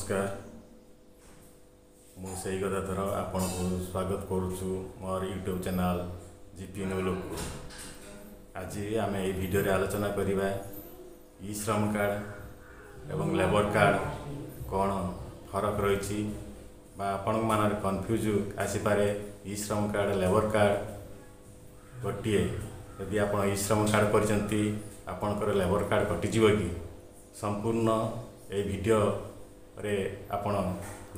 ନମସ୍କାର, ମୁଁ ସେଇ ଗଦାଧର ଆପଣଙ୍କୁ ସ୍ୱାଗତ କରୁଛୁ ମୋର ୟୁଟ୍ୟୁବ୍ ଚ୍ୟାନେଲ୍ ଜିପି ନ୍ୟୁଲୋକୁ। ଆଜି ଆମେ ଏହି ଭିଡ଼ିଓରେ ଆଲୋଚନା କରିବା ଇ ଶ୍ରମ କାର୍ଡ଼ ଏବଂ ଲେବର କାର୍ଡ଼ କ'ଣ ଫରକ ରହିଛି ବା ଆପଣଙ୍କ ମନରେ କନଫ୍ୟୁଜ୍ ଆସିପାରେ। ଇ ଶ୍ରମ କାର୍ଡ଼, ଲେବର କାର୍ଡ଼ ଗୋଟିଏ। ଯଦି ଆପଣ ଇ ଶ୍ରମ କାର୍ଡ଼ କରିଛନ୍ତି, ଆପଣଙ୍କର ଲେବର କାର୍ଡ଼ କଟିଯିବ କି? ସମ୍ପୂର୍ଣ୍ଣ ଏହି ଭିଡ଼ିଓରେ ଆପଣ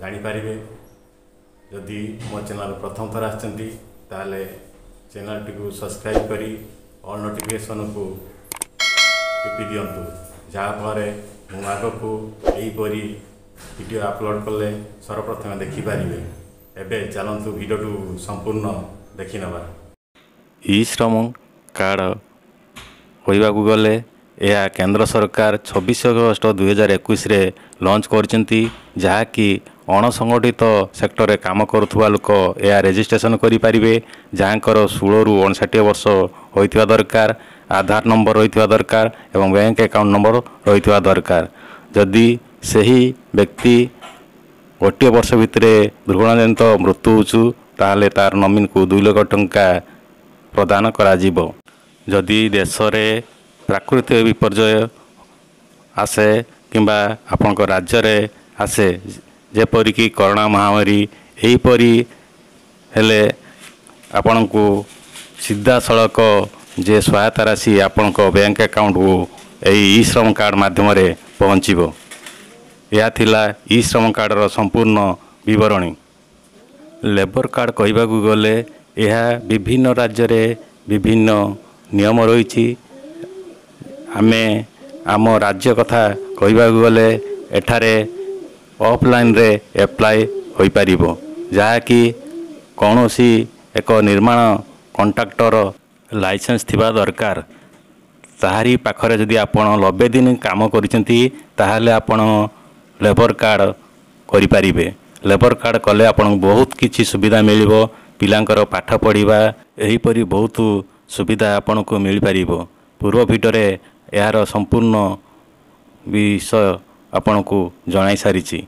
ଜାଣିପାରିବେ। ଯଦି ମୋ ଚ୍ୟାନେଲ୍ ପ୍ରଥମ ଥର ଆସିଛନ୍ତି, ତାହେଲେ ଚ୍ୟାନେଲ୍ଟିକୁ ସବସ୍କ୍ରାଇବ୍ କରି ଅଲ୍ ନୋଟିଫିକେସନ୍କୁ ଟିପି ଦିଅନ୍ତୁ, ଯାହାଫଳରେ ମୁଁ ଆଗକୁ ଏହିପରି ଭିଡ଼ିଓ ଅପଲୋଡ଼ କଲେ ସର୍ବପ୍ରଥମେ ଦେଖିପାରିବେ। ଏବେ ଚାଲନ୍ତୁ, ଭିଡ଼ିଓଟିକୁ ସମ୍ପୂର୍ଣ୍ଣ ଦେଖିନେବା। ଇ ଶ୍ରମ କାର୍ଡ଼ କହିବାକୁ ଗଲେ ଏହା କେନ୍ଦ୍ର ସରକାର 26 ଅଗଷ୍ଟ 2021ରେ ଲଞ୍ଚ କରିଛନ୍ତି, ଯାହାକି ଅଣସଂଗଠିତ ସେକ୍ଟରରେ କାମ କରୁଥିବା ଲୋକ ଏହା ରେଜିଷ୍ଟ୍ରେସନ୍ କରିପାରିବେ, ଯାହାଙ୍କର 16ରୁ 59 ବର୍ଷ ହୋଇଥିବା ଦରକାର, ଆଧାର ନମ୍ବର ରହିଥିବା ଦରକାର ଏବଂ ବ୍ୟାଙ୍କ ଆକାଉଣ୍ଟ ନମ୍ବର ରହିଥିବା ଦରକାର। ଯଦି ସେହି ବ୍ୟକ୍ତି ଗୋଟିଏ ବର୍ଷ ଭିତରେ ଦୁର୍ଘଟଣାଜନିତ ମୃତ୍ୟୁ ହେଉଛି, ତାହେଲେ ତାର ନମିନୀକୁ 2 ଲକ୍ଷ ଟଙ୍କା ପ୍ରଦାନ କରାଯିବ। ଯଦି ଦେଶରେ ପ୍ରାକୃତିକ ବିପର୍ଯ୍ୟୟ ଆସେ କିମ୍ବା ଆପଣଙ୍କ ରାଜ୍ୟରେ ଆସେ, ଯେପରିକି କରୋନା ମହାମାରୀ, ଏହିପରି ହେଲେ ଆପଣଙ୍କୁ ସିଧାସଳଖ ଯେ ସହାୟତା ରାଶି ଆପଣଙ୍କ ବ୍ୟାଙ୍କ ଆକାଉଣ୍ଟକୁ ଏହି ଇ ଶ୍ରମ କାର୍ଡ଼ ମାଧ୍ୟମରେ ପହଞ୍ଚିବ। ଏହା ଥିଲା ଇ ଶ୍ରମ କାର୍ଡ଼ର ସମ୍ପୂର୍ଣ୍ଣ ବିବରଣୀ। ଲେବର କାର୍ଡ଼ କହିବାକୁ ଗଲେ ଏହା ବିଭିନ୍ନ ରାଜ୍ୟରେ ବିଭିନ୍ନ ନିୟମ ରହିଛି। ଆମେ ଆମ ରାଜ୍ୟ କଥା କହିବାକୁ ଗଲେ ଏଠାରେ ଅଫଲାଇନ୍ରେ ଆପ୍ଲାଏ ହୋଇପାରିବ, ଯାହାକି କୌଣସି ଏକ ନିର୍ମାଣ କଣ୍ଟ୍ରାକ୍ଟର ଲାଇସେନ୍ସ ଥିବା ଦରକାର। ତାହାରି ପାଖରେ ଯଦି ଆପଣ 90 ଦିନ କାମ କରିଛନ୍ତି, ତାହେଲେ ଆପଣ ଲେବର କାର୍ଡ଼ କରିପାରିବେ। ଲେବର କାର୍ଡ଼ କଲେ ଆପଣଙ୍କୁ ବହୁତ କିଛି ସୁବିଧା ମିଳିବ। ପିଲାଙ୍କର ପାଠ ପଢ଼ିବା, ଏହିପରି ବହୁତ ସୁବିଧା ଆପଣଙ୍କୁ ମିଳିପାରିବ। ପୂର୍ବ ଭିଡ଼ିଓରେ ଏହାର ସମ୍ପୂର୍ଣ୍ଣ ବିଷୟ ଆପଣଙ୍କୁ ଜଣାଇ ସାରିଛି।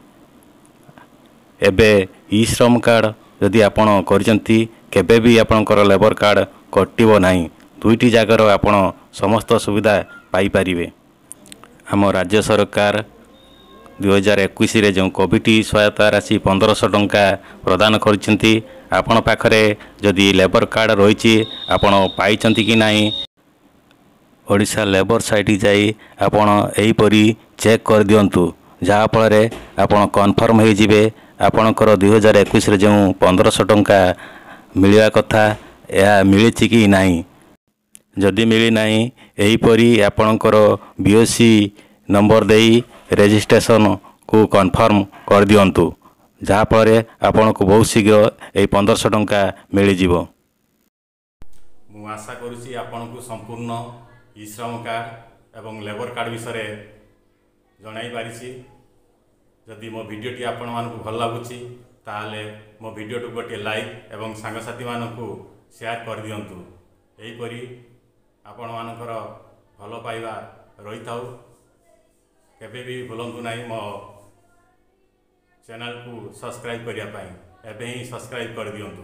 ଏବେ ଇ ଶ୍ରମ କାର୍ଡ଼ ଯଦି ଆପଣ କରିଛନ୍ତି, କେବେ ବି ଆପଣଙ୍କର ଲେବର କାର୍ଡ଼ କଟିବ ନାହିଁ। ଦୁଇଟି ଜାଗାର ଆପଣ ସମସ୍ତ ସୁବିଧା ପାଇପାରିବେ। ଆମ ରାଜ୍ୟ ସରକାର 2021ରେ ଯେଉଁ କୋଭିଡ଼ ସହାୟତା ରାଶି 1500 ଟଙ୍କା ପ୍ରଦାନ କରିଛନ୍ତି, ଆପଣ ପାଖରେ ଯଦି ଲେବର କାର୍ଡ଼ ରହିଛି, ଆପଣ ପାଇଛନ୍ତି କି ନାହିଁ, ଓଡ଼ିଶା ଲେବର ସାଇଟ୍ ଯାଇ ଆପଣ ଏହିପରି ଚେକ୍ କରିଦିଅନ୍ତୁ, ଯାହାଫଳରେ ଆପଣ କନଫର୍ମ ହୋଇଯିବେ ଆପଣଙ୍କର 2021ରେ ଯେଉଁ 1500 ଟଙ୍କା ମିଳିବା କଥା, ଏହା ମିଳିଛି କି ନାହିଁ। ଯଦି ମିଳିନାହିଁ, ଏହିପରି ଆପଣଙ୍କର ବି ଓ ସି ନମ୍ବର ଦେଇ ରେଜିଷ୍ଟ୍ରେସନକୁ କନଫର୍ମ କରିଦିଅନ୍ତୁ, ଯାହାଫଳରେ ଆପଣଙ୍କୁ ବହୁତ ଶୀଘ୍ର ଏହି 1500 ଟଙ୍କା ମିଳିଯିବ। ମୁଁ ଆଶା କରୁଛି ଆପଣଙ୍କୁ ସମ୍ପୂର୍ଣ୍ଣ ଇ ଶ୍ରମ କାର୍ଡ଼ ଏବଂ ଲେବର କାର୍ଡ଼ ବିଷୟରେ ଜଣାଇ ପାରିଛି। ଯଦି ମୋ ଭିଡ଼ିଓଟି ଆପଣମାନଙ୍କୁ ଭଲ ଲାଗୁଛି, ତାହେଲେ ମୋ ଭିଡ଼ିଓଟିକୁ ଗୋଟିଏ ଲାଇକ୍ ଏବଂ ସାଙ୍ଗସାଥିମାନଙ୍କୁ ସେୟାର କରିଦିଅନ୍ତୁ। ଏହିପରି ଆପଣମାନଙ୍କର ଭଲ ପାଇବା ରହିଥାଉ। କେବେ ବି ଭୁଲନ୍ତୁ ନାହିଁ ମୋ ଚ୍ୟାନେଲକୁ ସବସ୍କ୍ରାଇବ୍ କରିବା ପାଇଁ। ଏବେ ହିଁ ସବସ୍କ୍ରାଇବ୍ କରିଦିଅନ୍ତୁ।